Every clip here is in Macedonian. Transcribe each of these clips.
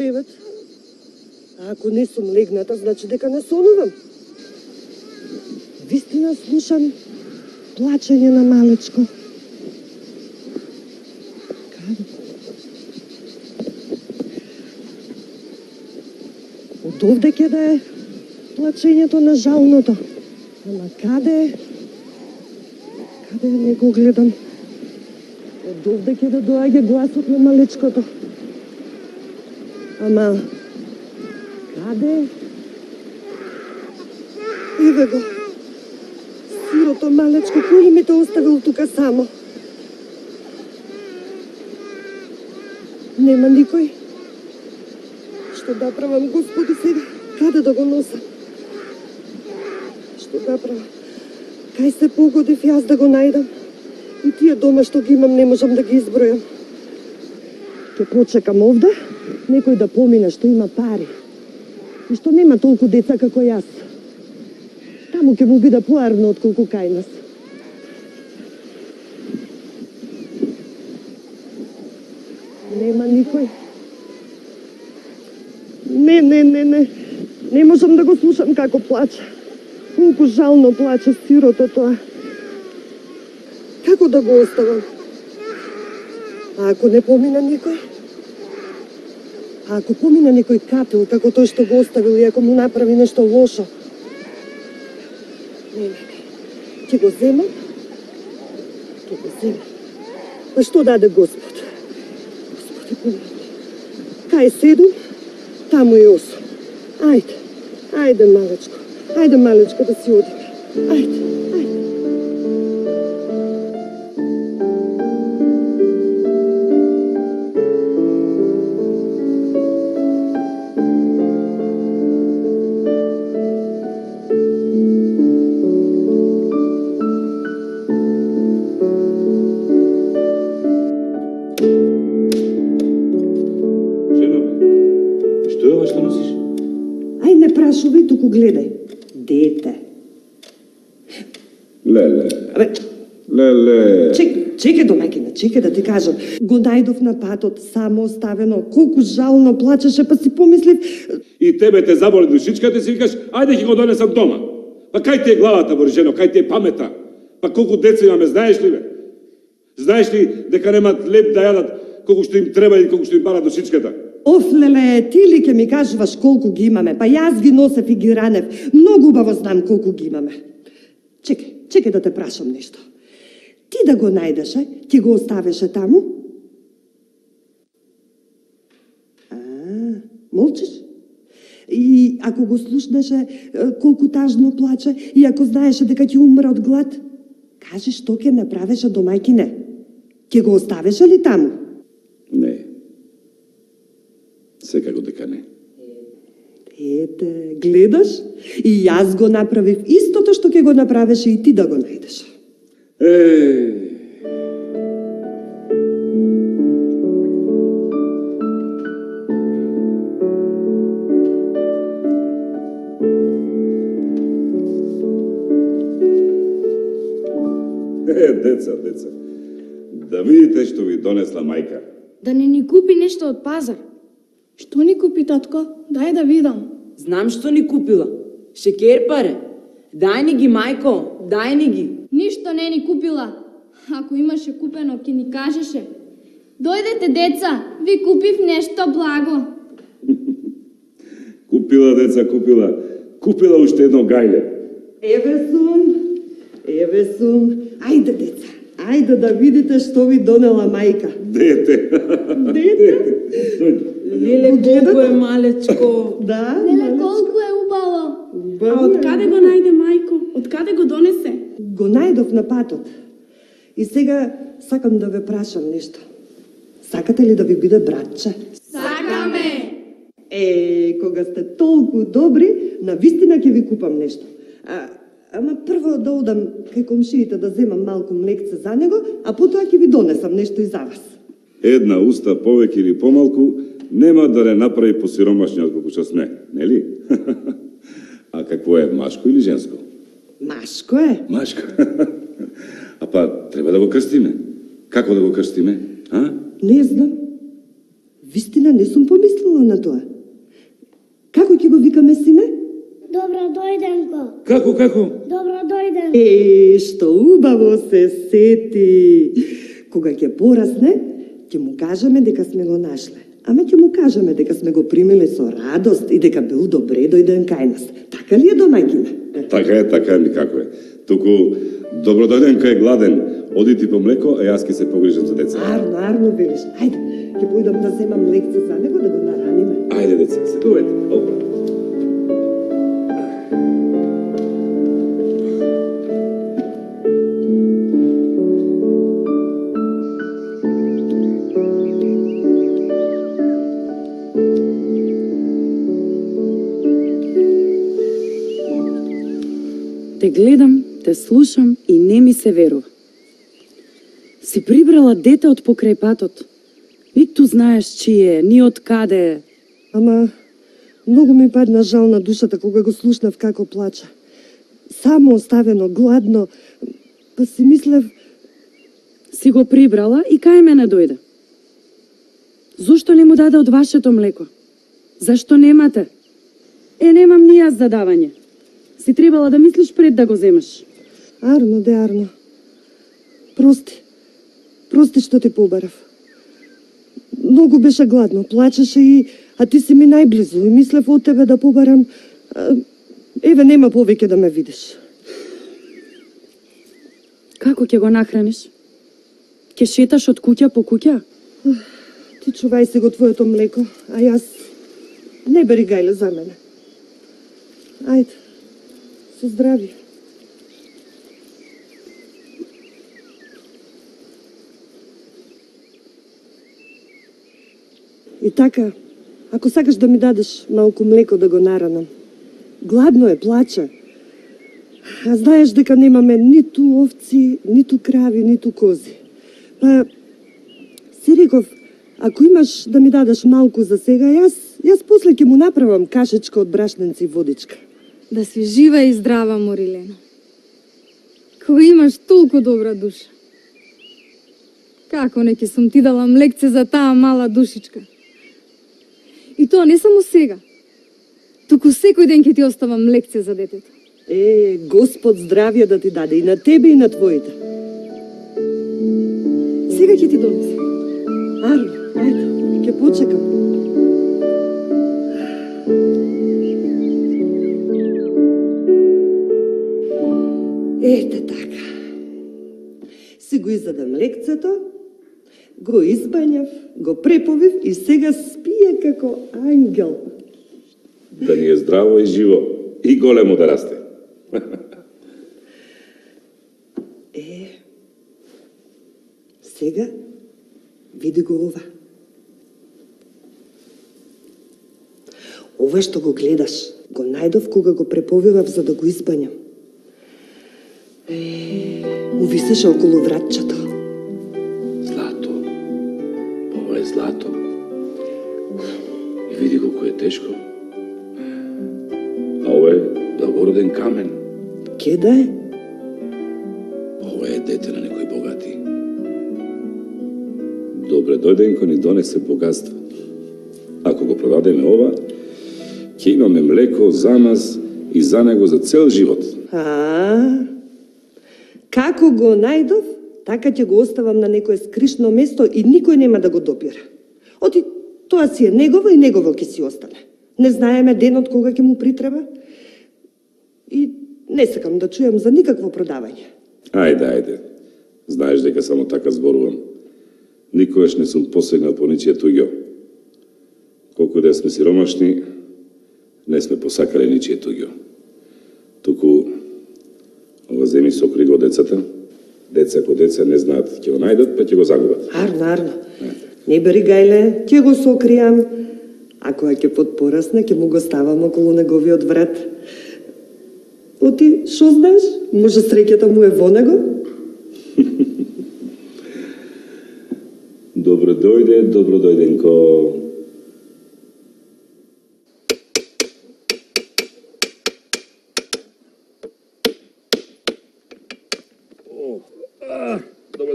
кревет. А ако не сум легната, значи дека не сонувам. Вистина слушам плачење на малечко. Каде? Од овде ќе да е плачењето на жалното. Ама каде? Каде не го гледам? Од овде ќе да доаѓа гласот на малечкото. Ама каде? Еве го. Сирото малечко, кој ми те оставил тука само? Нема никој. Што да правам, Господи, сега? Каде да го носам? Што да правам? Кај се погодив јас да го најдам? И тие дома што ги имам не можам да ги избројам. Ке почекам овде, некој да помине што има пари и што нема толку деца како јас. Таму ќе му биде поарно отколку кај нас. Нема никој. Не. Не можам да го слушам како плаче. Колку жално плаче сирото тоа. Како да го оставам? А ако не помина никој? А ако помина некој капил, како тој што го оставил и ако му направи нешто лошо? Не. Ќе го земам? Ќе го земам. Па што даде Господ? Господи, помилуј. Кај седум, таму и осум. Ајде, малечко. Ајде, малечко, да си одиме. Ајде. Прашувај, туку гледај. Дете. Леле. Чекај домаќина, чекај да ти кажам. Го најдов на патот, само оставено. Колку жално плачеше, па си помислив... И тебе те заболи душичката и си викаш, ајде ќе го донесам дома. Па кај ти е главата, Боржено, кај ти е памета? Па колку деца имаме, знаеш ли бе? Знаеш ли дека немат леп да јадат колку што им треба и колку што им бара душичката? Оф, леле, ти ли ке ми кажуваш колку ги имаме? Па јас ги носев и ги ранев. Многу убаво знам колку ги имаме. Чекај да те прашам нешто. Ти да го најдеше, ќе го оставеше таму? Молчиш? И ако го слушнеше колку тажно плаче и ако знаеше дека ќе умре од глад, кажи што ќе направеше домајкине? Ќе го оставеше ли таму? Не. Секако дека не. Ете, гледаш? И јас го направив истото што ќе го направеше и ти да го најдеш. Деца. Да видите што ви донесла мајка. Да не ни купи нешто од пазар. Што ни купи, татко? Дај да видам. Знам што ни купила. Шекер паре. Дај ни ги, мајко, дај ни ги. Ништо не ни купила. Ако имаше купено, ќе ни кажеше. Дојдете, деца, ви купив нешто благо. Купила, деца, купила. Купила уште едно гајле. Еве сум. Ајде, деца. Ајде да видите што ви донела мајка. Дете. Леле, колку е малечко. Да, Леле, колку е убаво. А од каде го најде мајко? Од каде го донесе? Го најдов на патот. И сега сакам да ве прашам нешто. Сакате ли да ви биде братче? Сакаме! Кога сте толку добри, навистина ќе ви купам нешто. Ама прво да одам кај комшиите да земам малку млекце за него, а потоа ќе ви донесам нешто и за вас. Една уста повеќе или помалку нема да не направи посиромашни отколку што сме, нели? А какво е, машко или женско? Машко е. Машко. А па треба да го крстиме. Како да го крстиме? А? Не знам. Вистина не сум помислила на тоа. Како ќе го викаме, сине? Добро дојденко. Како? Добро дојден. Што убаво се сети. Кога ќе порасне, ќе му кажеме дека сме го нашле. Ама ќе му кажеме дека сме го примиле со радост и дека бил добре дојден кај нас. Така ли е, домаќине? Така е, никако е. Туку, добро дојден кај гладен. Оди ти по млеко, а јас ќе се погрижам за деца. Арно велиш. Ајде, ќе појдам да земам лекција за него да го нараниме. Ајде, деца, седувајте. Опа. Те гледам, те слушам и не ми се верува. Си прибрала дете од покрај патот. Ниту знаеш чие, ни од каде е. Ама, многу ми падна жал на душата кога го слушнав како плача. Само оставено, гладно, па си мислев... Си го прибрала и кај мене дојде. Зошто не му даде од вашето млеко? Зашто немате? Немам ни јас за давање. Си требала да мислиш пред да го земеш. Арно. Прости што те побарав. Многу беше гладно, плачеше а ти си ми најблизу и мислев од тебе да побарам. Еве, нема повеќе да ме видиш. Како ќе го нахраниш? Ќе шеташ од куќа по куќа? Ти чувај си го твоето млеко, а јас не бери гајле за мене. Ајде, со здравје. И така, ако сакаш да ми дадеш малку млеко да го наранам. Гладно е, плаче. А знаеш дека немаме ниту овци, ниту крави, ниту кози. Па, си реков, ако имаш да ми дадеш малку за сега, јас после ќе му направам кашечка од брашненци и водичка. Да си жива и здрава, Морилено. Кога имаш толку добра душа. Како не ќе сум ти дала млекце за таа мала душичка? И тоа не само сега. Туку секој ден ќе ти оставам лекција за детето. Господ здравје да ти даде и на тебе и на твоите. Сега ќе ти донесам. Арно, ајде, ќе почекам. Ете така. Си го изадам лекцето, го избањав, го преповив и сега спие како ангел. Да ни е здраво и живо и големо да расте. Сега види го ова. Ова што го гледаш, го најдов кога го преповивав за да го избањам. Увисеше околу вратчето. Злато. Ова е злато. И види колко е тешко. А ова е благороден камен. Ке да е? Ова е дете на некој богати. Добре дојден кој ни донесе богатство. Ако го продадеме ова, ќе имаме млеко за нас и за него за цел живот. Како го најдов, така ќе го оставам на некое скришно место и никој нема да го допира. Оти, тоа си е негово и негово ќе си остане. Не знаеме денот кога ќе му притреба. И не сакам да чујам за никакво продавање. Ајде. Знаеш дека само така зборувам. Никогаш не сум посегнал по ничие туѓо. Колку да сме сиромашни, не сме посакале ничие туѓо. Туку, ова земи сокри го децата. Деца ко деца не знаат, ќе го најдат, па ќе го загубат. Арно. Не бери гајле, ќе го сокријам. А кога ќе подпорасне, ќе му го ставам околу неговиот врат. Оти, шо знаеш? Може среќата му е во него? Добро дојденко. Добро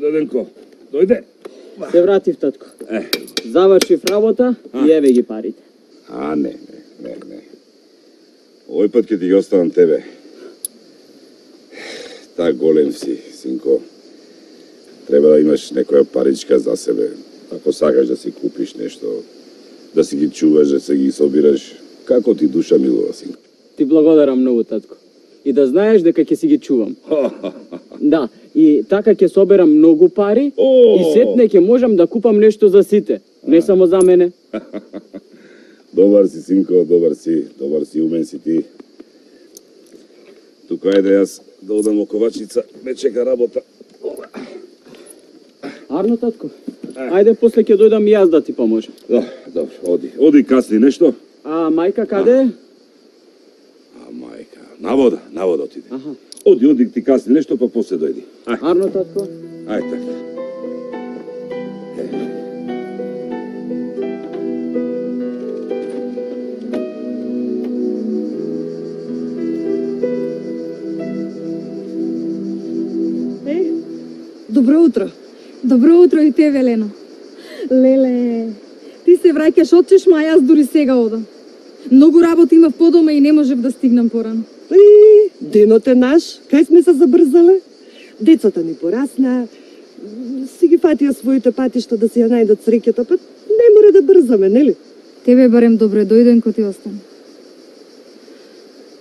дојденко. Дојде. Се вратив, татко. Завршив работа и еве ги парите. Не. Овој пат ќе ти ги оставам тебе. Та голем си, синко. Треба да имаш некоја паричка за себе. Ако сакаш да си купиш нешто, да си ги чуваш, да се ги собираш, како ти душа милува, синко. Ти благодарам многу, татко. И да знаеш дека ќе си ги чувам. Да, и така ќе соберам многу пари и сетне ќе можам да купам нешто за сите, не само за мене. Добар си, синко, добар си, умен си ти. Тука ајде јас да одам во ковачница, ме чека работа. Арно, татко. Ајде, после ќе дојдам и јас да ти поможам. Добро, оди касни нешто. А мајка каде е? Мајка, на вода отиде. Оди ти касни нешто, па после дојди. Арно, татко. Ајде така. Добро утро. Добро утро и тебе, Лено. Леле, ти се враќаш од чешма, а јас дури сега одам. Многу работа имав по дома и не можев да стигнам порано. Денот е наш, кај сме се забрзале? Децата ни порасна, си ги фатија своите патишта да си ја најдат среќата, па не мора да брзаме, нели? Тебе барем добре дојден ко ти остане.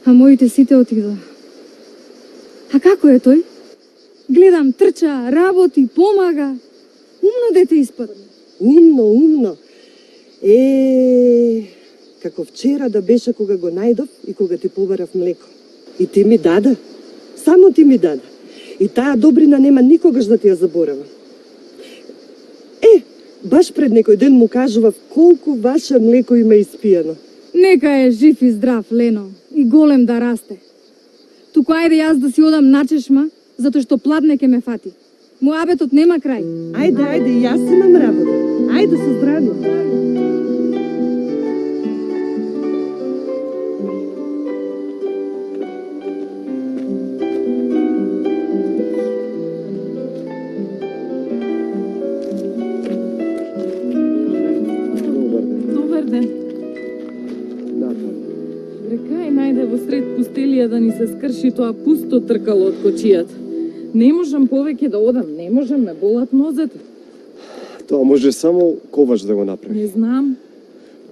А моите сите отидоа. А како е тој? Гледам, трча, работи, помага. Умно дете испадна. Умно. Како вчера да беше кога го најдов и кога ти побарав млеко. И ти ми даде. Само ти ми даде. И таа добрина нема никогаш да ти ја заборавам. Баш пред некој ден му кажував колку ваше млеко има испиено. Нека е жив и здрав, Лено, и голем да расте. Туку ајде јас да си одам на чешма, затоа што пладне ке ме фати. Муабетот нема крај. Ајде, јас имам работа. Ајде со здравје. Добар ден. Рекај најде во сред пустелија да ни се скрши тоа пусто тркало од кочијата. Не можам повеќе да одам, не можам, ме болат нозете. Тоа може само ковач да го направи. Не знам.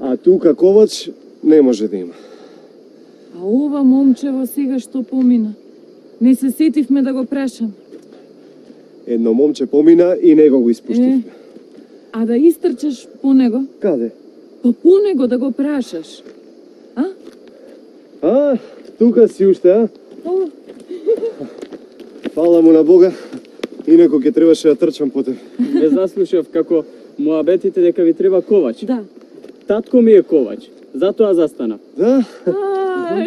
А тука ковач не може да има. А ова момчево сега што помина? Не се сетивме да го прашам. Едно момче помина и него го испуштивме. А да истрчаш по него? Каде? Па по него да го прашаш. Тука си уште, а? Фала му на Бога, инако ќе требаше да трчам по тебе. Ве заслушав како муабетите дека ви треба ковач. Да. Татко ми е ковач, затоа застанав. Да?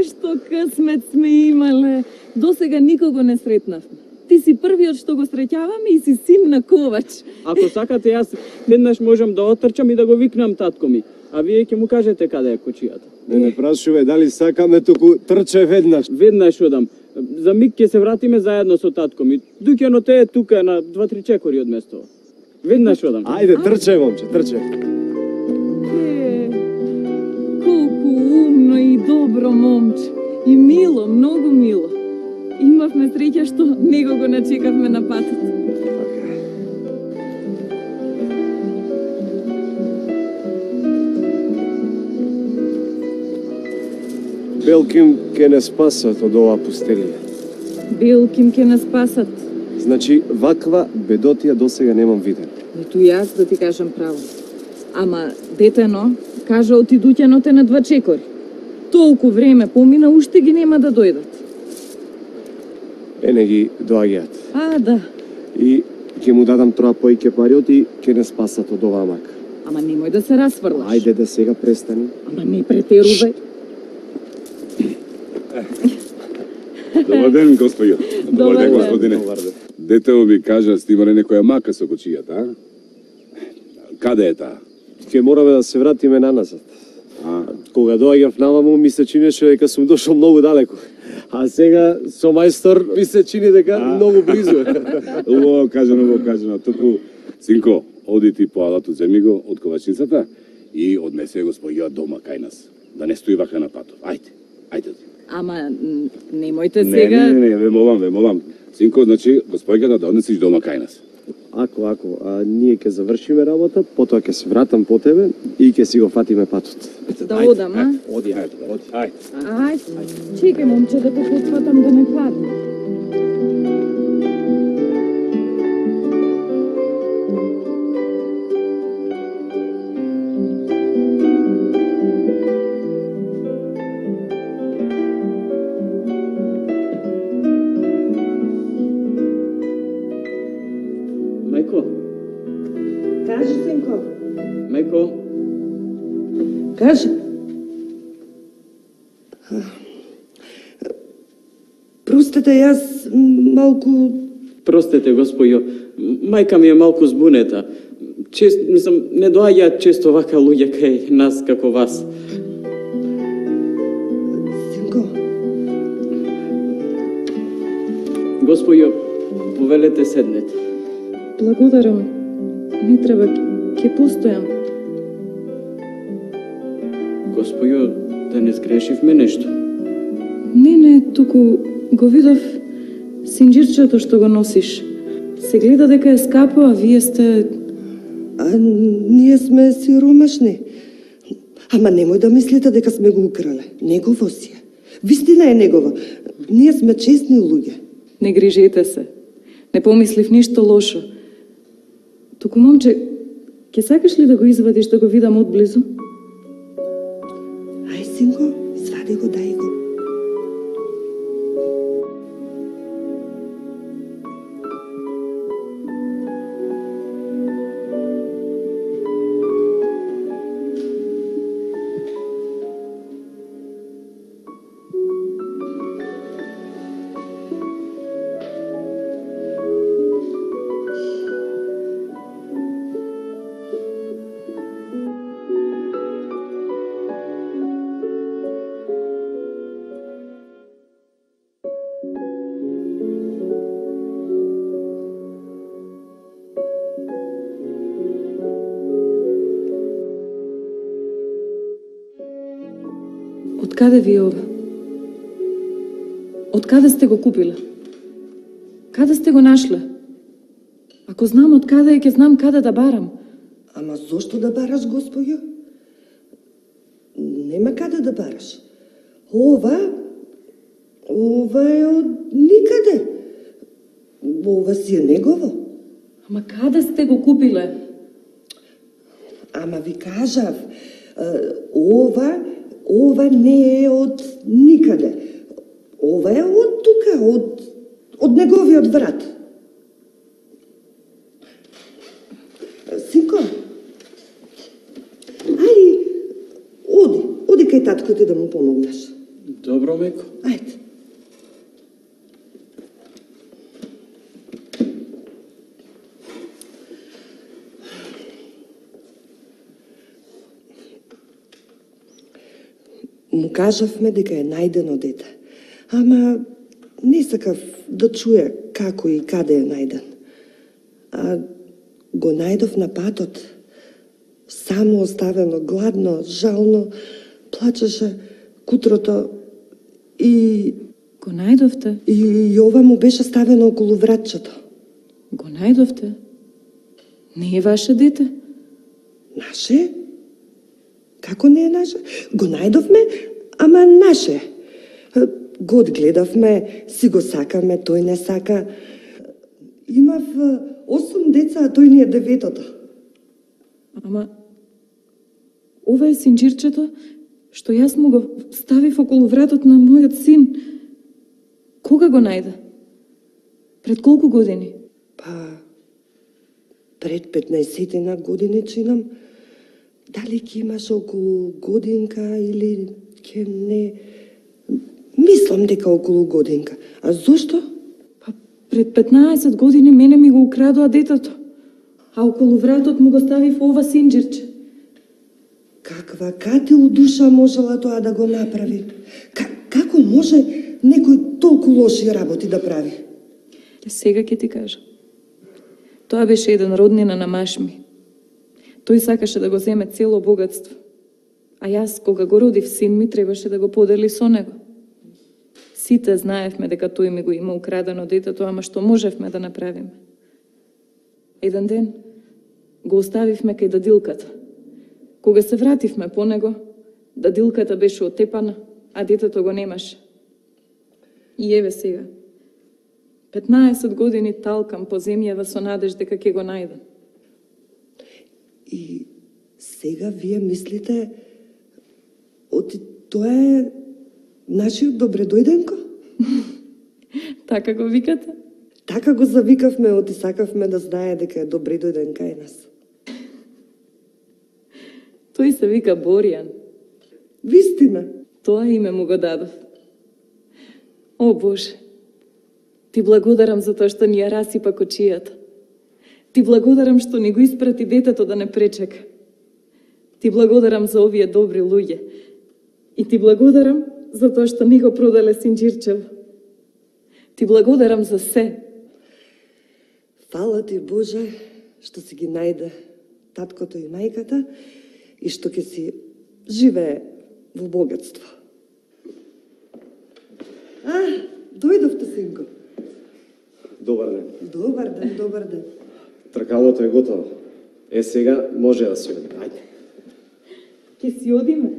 Што късмет сме имале. Досега никого не сретнавме. Ти си првиот што го среќаваме и си син на ковач. Ако сакате, јас веднаш можам да отрчам и да го викнам татко ми. А вие ќе му кажете каде е кочијата. Не прашуве дали сакаме, туку трче веднаш. Веднаш одам. За миг ќе се вратиме заедно со татко ми. Дуќано е тука на 2-3 чекори од местото. Веднаш одам. Ајде, трче, момче, трче. Колку умно и добро момче. И мило, многу мило. Имавме среќа што него го начекавме на патот. Белким ке не спасат од оваа пустелија. Белким ке не спасат. Значи, ваква бедотија досега немам виден. Ниту јас да ти кажам право. Ама, детено, кажа отидуќаноте на 2 чекори. Толку време помина, уште ги нема да дојдат. Не ги доаѓаат. Да. И ќе му дадам троа поиќе париот и ќе не спасат од оваа мака. Ама немој да се расфрлаш. Ајде да сега престани. Ама не претерувај. Добар ден, господјо. Добар ден, господине. Детево ми кажа, снимале некоја мака со кочијата, а? Каде е таа? Ќе мораме да се вратиме наназад. Кога доаѓав наваму, ми се чинеше дека сум дошол многу далеку. А сега со мајстор ми се чини дека многу близу е. Убаво кажано. Туку, синко, оди ти по алатот, земи го од ковачницата и однесе го спојува дома кај нас. Да не стои вака на патот. Ајде, ајде. Ама немојте сега... Не, ве молам. Синко, значи, го спојува да однесеш дома кај нас. Ако, ние ќе завршиме работа, потоа ќе се вратам по тебе и ќе си го фатиме патот. Да одам, а? Оди. Ајде. Чекај, момче, да те потфатам да не падне. Кажи, синко. Мајко, Кажи. Простете, јас малку... простете, господјо, мајка ми е малку збунета. Не доаѓаат често вака луѓе кај нас како вас. Синко, Господјо, повелете седнете. Благодарам. Не треба, ќе постојам. Господјо, да не сгрешивме нешто. Не, туку го видов синџирчето што го носиш. Се гледа дека е скапо, а вие сте... а ние сме сиромашни. Ама немој да мислите дека сме го украле. Негово си е. Вистина е негово. Ние сме честни луѓе. Не грижете се. Не помислив ништо лошо. Туку, момче, ќе сакаш ли да го извадиш да го видам одблизу? Ај, синко, извади го, дај го. Откаде ви е ова? Откаде сте го купиле? Каде сте го нашле? Ако знам откаде е, ќе знам каде да барам. Ама зошто да бараш, господјо? Нема каде да бараш. Ова е од никаде. Ова си е негово. Ама каде сте го купиле? Ама ви кажав, ова не е од никаде. Ова е од тука, од неговиот врат. Синко, оди кај татко ти да му помогнеш. Добро, мајко. Ајде. Му кажавме дека е најдено дете, ама не сакав да чуе како и каде е најден. А го најдов на патот, само оставено, гладно, жално, плачеше кутрото и... Го најдовте? И ова му беше ставено околу вратчето. Го најдовте? Не е ваше дете? Наше? Како не е наше? Го најдовме, ама наше. Го одгледавме, си го сакаме, тој не сака. Имав 8 деца, а тој ни е 9-тото. Ама, ова е синџирчето што јас му го ставив околу вратот на мојот син. Кога го најде? Пред колку години? Па, пред 15 години чинам. Дали ќе имаш околу годинка или ќе не... Мислам дека околу годинка. А зошто? Па пред 15 години мене ми го украдоа детето. А околу вратот му го ставив ова синџирче. Каква катил душа можела тоа да го направи? Како може некој толку лоши работи да прави? Сега ќе ти кажам. Тоа беше еден роднина на маш ми. Тој сакаше да го земе цело богатство. А јас, кога го родив син ми, требаше да го подели со него. Сите знаевме дека тој ми го има украдено детето, ама што можевме да направиме? Еден ден го оставивме кај дадилката. Кога се вративме по него, дадилката беше отепана, а детето го немаше. И еве сега, 15 години талкам по земјава со надеж дека ќе го најдам. И сега вие мислите, тоа е нашиот Добредојденко? Така го викате? Така го завикавме, оти сакавме да знае дека е Добредојден кај нас. Тој се вика Боријан. Вистина? Тоа име му го дадов. О, Боже, ти благодарам за тоа што ни ја расипа кочијата. Ти благодарам што ни го испрати детето да не пречека. Ти благодарам за овие добри луѓе. И ти благодарам за тоа што ни го проделе синџирчево. Ти благодарам за се. Фала ти, Боже, што си ги најде таткото и мајката и што ќе си живее во богатство. Дојдовте, синко. Добар ден. Добар ден, добар ден. Тркалото е готово. Сега може да си одиме. Ајде. Ке си одиме.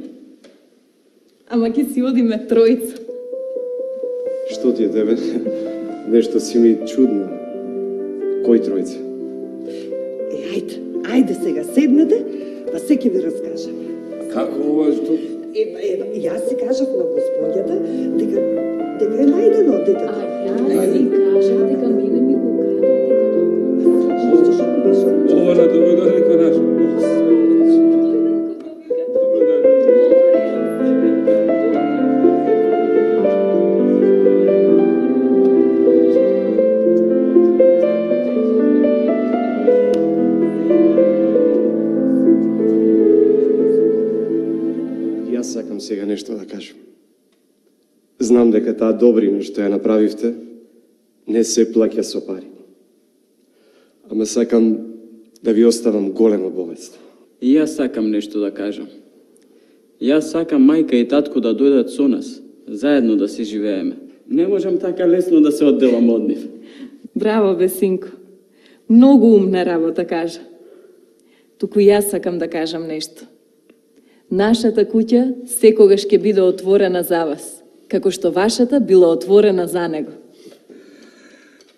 Ама ке си одиме тројца. Што ти е тебе? Нешто си ми чудно. Кој тројца? Ајде сега, седнете, па се ќе ви раскажам. Како ова што? Јас си кажав на господјата дека е најдено детето. Јас си кажав дека мене ми го украдо детето. Ова на Добредојденко наш. Сакам сега нешто да кажам. Знам дека таа добрина што ја направивте не се плаќа со пари. Ама сакам да ви оставам големо богатство. И јас сакам нешто да кажам. Јас сакам мајка и татко да дојдат со нас, заедно да си живееме. Не можам така лесно да се одделам од нив. Браво, бе, синко. Многу умна работа кажа. Туку јас сакам да кажам нешто. Нашата куќа секогаш ќе биде отворена за вас, како што вашата била отворена за него.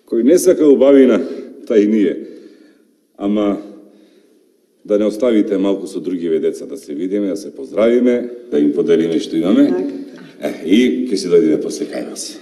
Кој не сака убавина, тај ние. Ама да не оставите малку со другиве деца да се видиме, да се поздравиме, да им поделиме што имаме. И ќе си дојдеме после кај вас.